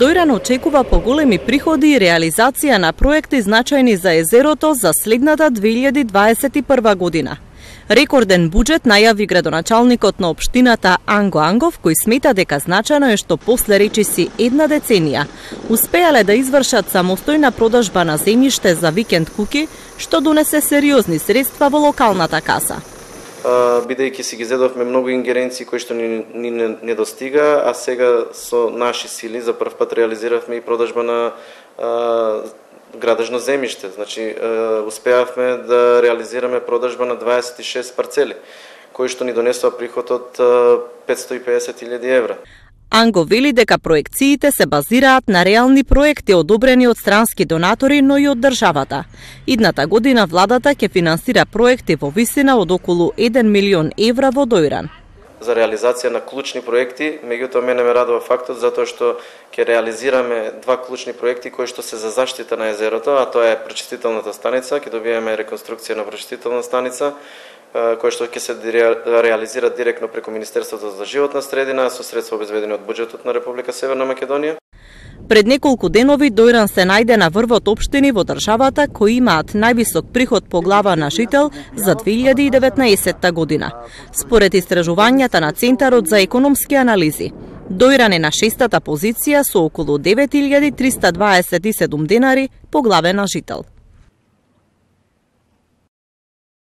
Дојран очекува поголеми приходи и реализација на проекти значајни за езерото за следната 2021 година. Рекорден буџет најави градоначалникот на општината Анго Ангов, кој смета дека значајно е што после речиси една деценија успеале да извршат самостојна продажба на земјиште за викенд куки, што донесе сериозни средства во локалната каса. Бидејќи си ги зедовме многу ингеренции кои што ни недостига, а сега со наши сили за прв пат реализиравме и продажба на градежно земјиште. Значи, успеавме да реализираме продажба на 26 парцели, кои што ни донесоа приход од 550.000 евра. Анго вели дека проекциите се базираат на реални проекти одобрени од странски донатори, но и од државата. Идната година владата ќе финансира проекти во висина од околу 1 милион евра во Дојран. За реализација на клучни проекти, меѓутоа мене ме радува фактот затоа што ќе реализираме два клучни проекти кои што се за заштита на езерото, а тоа е прочистителната станица, ќе добиеме реконструкција на прочистителна станица, кој што ќе се реализира директно преку Министерството за животна средина со средства обезбедени од буџетот на Република Северна Македонија. Пред неколку денови Дојран се најде на врвот општини во државата кои имаат највисок приход по глава на жител за 2019 година. Според истражувањата на Центарот за економски анализи, Дојран е на 6-та позиција со околу 9327 денари по глава на жител.